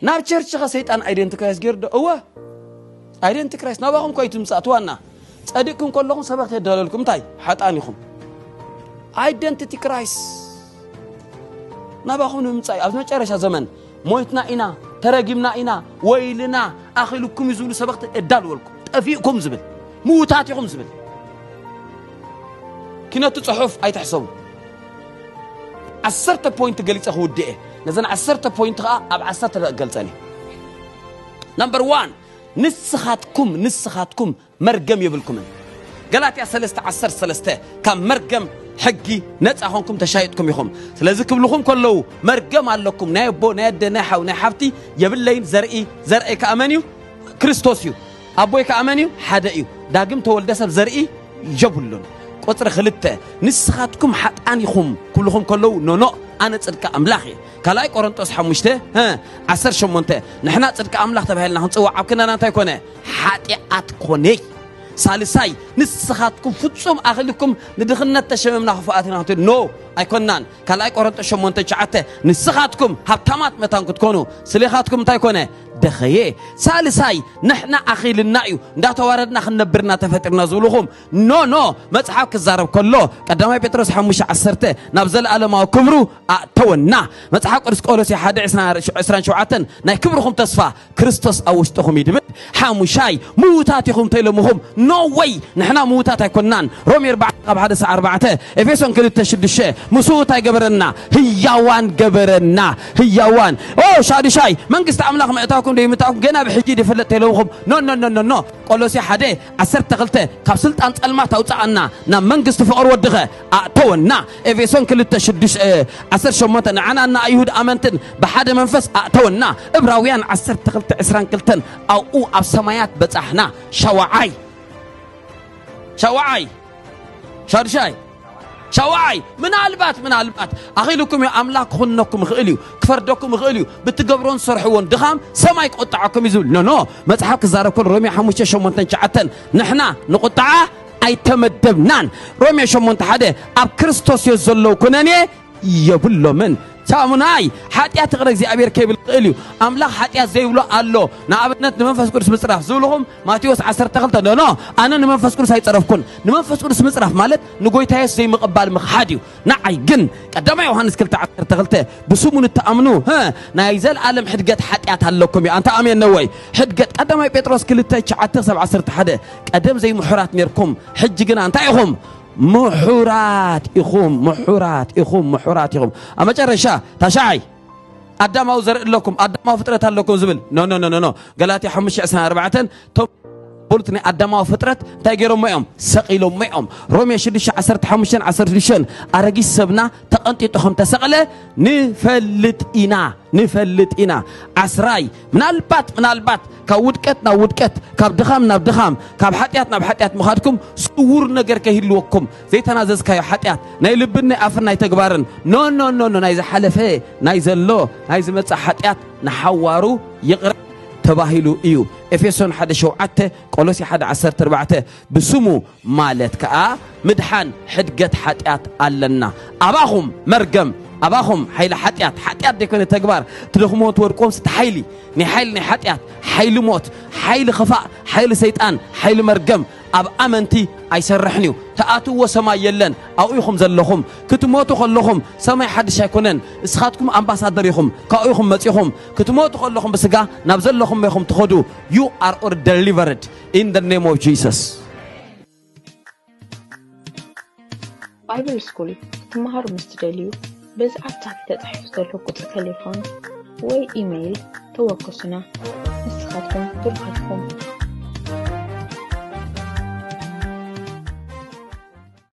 ናብ ቸርች ኸ ሰይጣን ኣይደንቲ ክራይስት ገይሩ ዶ? እወ፣ ኣይደንቲ ክራይስት ናባኹም እኮ እዩ ትምጻእ። እቲ ዋና ጸዲቕኩም ከለኹም ሰበኽቲ የዳለልኩም። እንታይ ሓጣን ኢኹም? ኣይደንቲቲ ክራይስት ናባኹም ንምምጻእ እዩ። ኣብዚ መጨረሻ ዘመን ሞይትና ኢና፣ ተረጊምና ኢና፣ ወይልና ኣኺሉኩም እዩ ዝብሉ ሰበኽቲ የዳልወልኩም። ጠፊእኩም ዝብል፣ ምዉታት ኢኹም ዝብል። ኪነቱ ጽሑፍ ኣይትሕሰቡ። ዓሰርተ ፖይንት ገሊጸ ክውድእ እየ። ነዘን ዓሰርተ ፖይንት ኸኣ ኣብ ዓሰርተ ደቂቕ ገልጸን እየ። ነምበር ዋን፣ ንስኻትኩም ንስኻትኩም መርገም የብልኩምን። ገላትያ ሰለስተ ዓሰርተ ሰለስተ፣ ካብ መርገም ሕጊ ነጻ ኾንኩም ተሻይጥኩም ኢኹም። ስለዚ ክብልኹም ከለዉ፣ መርገም ኣለኩም፣ ናይ ኣቦ ናይ ኣደ ናይ ሓው ናይ ሓፍቲ የብለይን። ዘርኢ፣ ዘርአይ ከኣ መን እዩ? ክርስቶስ እዩ። ኣቦይ ከኣ መን እዩ? ሓደ እዩ። ዳግም ተወልደ ሰብ ዘርኢ የብሉን። ቁጽሪ ክልተ፣ ንስኻትኩም ሓጣን ኢኹም ክብልኹም ከለዉ፣ ኖኖ፣ ኣነ ጽድቂ ኣምላኽ እየ። ካልኣይ ቆሮንጦስ ሓሙሽተ፣ ሀ፣ ዓሰርተ ሸሞንተ፣ ንሕና ጽድቂ ኣምላኽ ተባሂልና ክንጽዋዕ ኣብ ክንዳና እንታይ ኮነ? ሓጢኣት ኮነ። ሳልሳይ፣ ንስኻትኩም ፍጹም ኣኽሊልኩም ንድኽነት ተሸሚምና ክፉኣት ኢና ክትብል፣ ኖ፣ ኣይኮናን። ካልኣይ ቆሮንጦስ ሸሞንተ ትሽዓተ፣ ንስኻትኩም ሃብታማት መታን ክትኮኑ፣ ስሌኻትኩም እንታይ ኮነ? ደኸየ። ሳልሳይ፣ ንሕና ኣኺልና እዩ፣ እንዳተዋረድና ክንነብርና ተፈጢርና ዝብልኹም፣ ኖ፣ ኖ። መጽሓፍ ክዛረብ ከሎ፣ ቀዳማይ ጴጥሮስ ሓሙሽተ ዓሰርተ፣ ናብ ዘለኣለማዊ ክብሩ ኣእተወና። መጽሓፍ ቅዱስ ቆሎሴ ሓደ ዕስራን ሸውዓተን፣ ናይ ክብርኹም ተስፋ ክርስቶስ ኣብ ውሽጥኹም እዩ ድብል። ሓሙሻይ፣ ምዉታት ኢኹም ተኢሎምኹም፣ ኖ ወይ፣ ንሕና ምዉታት ኣይኮናን። ሮሜ ኣርባዕተ ካብ ሓደ እስካብ ኣርባዕተ፣ ኤፌሶን ክልተ ሽዱሽተ፣ ምስኡ እንታይ ገበረና? ህያዋን ገበረና። ህያዋን። ኦ፣ ሻዱሻይ፣ መንግስቲ ኣምላኽ ምእታውኩም ደይምእታውኩም ገና ብሕጂ ድፍለጥ ተይለውኹም። ኖ፣ ኖ፣ ኖ፣ ኖ፣ ኖ። ቆሎሴ ሓደ ዓሰርተ ክልተ፣ ካብ ስልጣን ጸልማት ኣውጽኣና፣ ናብ መንግስቲ ፍቕሪ ወድኸ ኣእተወና። ኤፌሶን ክልተ ሽዱሽተ፣ እ፣ ዓሰርተ ሸሞንተ፣ ንዓና ንኣይሁድ ኣመንትን ብሓደ መንፈስ ኣእተወና። እብራውያን ዓሰርተ ክልተ ዕስራን ክልተን፣ ኣብኡ ኣብ ሰማያት በጻሕና። ሻውዓይ፣ ሻውዓይ፣ ሻዱሻይ፣ ሻውዓይ፣ ምናልባት፣ ምናልባት ኣኺሉኩም እዩ፣ ኣምላኽ ክኹንነኩም ይኽእል እዩ፣ ክፈርደኩም ይኽእል እዩ። ብትገብሮን ዝሰርሕዎን ድኻም ሰማይ ክቁጣዓኩም እዩ ዝብል። ኖ፣ ኖ፣ መጽሓፍ ክዛረብ ከሎ ሮሜ ሓሙሽተ ሸሞንተን ትሽዓተን፣ ንሕና ንቁጣዓ ኣይተመደብናን። ሮሜ ሸሞንተ ሓደ፣ ኣብ ክርስቶስ የስ ዘለዉ ኩነኔ የብሎምን። ሳሙናይ፣ ሓጢኣት ይቕረ እግዚኣብሔር ከይብል ክእል እዩ። ኣምላኽ ሓጢኣት ዘይብሎ ኣሎ። ንኣብነት ንመንፈስ ቅዱስ ምጽራፍ ዝብልኹም ማቴዎስ ዓሰርተ ክልተ፣ ኖ፣ ኖ፣ ኣነ ንመንፈስ ቅዱስ ኣይጸረፍኩን። ንመንፈስ ቅዱስ ምጽራፍ ማለት ንጎይታ የሱስ ዘይምቕባል ምኽሓድ እዩ። ንዓይ ግን ቀዳማይ ዮሃንስ ክልተ ዓሰርተ ክልተ፣ ብስሙ ንትኣምኑ፣ ህ፣ ናይ ዘለኣለም ሕድገት ሓጢኣት ኣለኩም እዩ። ኣንታ ኣሜን ነወይ? ሕድገት ቀዳማይ ጴጥሮስ ክልተ ትሽዓተ ክሳብ ዓሰርተ ሓደ፣ ቀደም ዘይምሑራት ኔርኩም፣ ሕጂ ግና እንታይ ኢኹም? ምሑራት ኢኹም፣ ምሑራት ኢኹም፣ ምሑራት ኢኹም። ኣብ መጨረሻ፣ ታሽዓይ፣ ኣዳማዊ ዘርኢ ኣለኩም፣ ኣዳማዊ ፍጥረት ኣለኩም ዝብል። ኖ፣ ኖ፣ ኖ፣ ኖ፣ ኖ። ገላትያ ሓሙሽተ ዕስራን ኣርባዕተን፣ ቶም በሉት ናይ ኣዳማዊ ፍጥረት እንታይ ገይሮሞ እዮም? ሰቒሎሞ እዮም። ሮሜ ሽዱሽተ ዓሰርተ ሓሙሽተን ዓሰርተ ሽዱሽተን፣ ኣረጊት ሰብና ተቐንጢጡ ከም ተሰቕለ ንፈልጥ ኢና፣ ንፈልጥ ኢና። ዓስራይ፣ ምናልባት፣ ምናልባት ካብ ውድቀት ናብ ውድቀት፣ ካብ ድኻም ናብ ድኻም፣ ካብ ሓጢኣት ናብ ሓጢኣት ምኻድኩም ስውር ነገር ከይህልወኩም፣ ዘይተናዘዝካዮ ሓጢኣት፣ ናይ ልብን ናይ ኣፍን ናይ ተግባርን፣ ኖ፣ ኖ፣ ኖ፣ ኖ፣ ናይ ዝሓለፈ፣ ናይ ዘሎ፣ ናይ ዝመጽእ ሓጢኣት ንሓዋሩ ይቕረ ተባሂሉ እዩ። ኤፌሶን ሓደ ሸውዓተ፣ ቆሎሴ ሓደ ዓሰርተ ኣርባዕተ፣ ብስሙ ማለት ከኣ ምድሓን ሕድገት ሓጢኣት ኣለና። ኣባኹም መርገም፣ ኣባኹም ሓይሊ ሓጢኣት፣ ሓጢኣት ደይኮነ ተግባር፣ ትደኽምዎ ትወድቅዎም ስቲ ሓይሊ፣ ናይ ሓይሊ ናይ ሓጢኣት፣ ሓይሊ ሞት፣ ሓይሊ ኽፋእ፣ ሓይሊ ሰይጣን፣ ሓይሊ መርገም ኣብ ኣመንቲ ኣይሰርሕን እዩ። ትኣትውዎ ሰማይ የለን። ኣብኡ ኢኹም ዘለኹም። ክትሞቱ ከለኹም ሰማይ ሓድሽ ኣይኮነን። እስኻትኩም ኣምባሳደር ኢኹም። ካብኡ ኢኹም መጺኹም። ክትሞቱ ከለኹም ብስጋ ናብ ዘለኹም ኢኹም ትኸዱ። You are all delivered in the name of Jesus. ባይብል ስኩል ክትመሃሩ ምስ ትደልዩ፣ በዚ ኣብ ታሕቲ ተጻሒፉ ዘሎ ቁጽሪ ተሌፎን ወይ ኢመይል ተወከሱና። ንስኻትኩም ብሩኻት ኢኹም።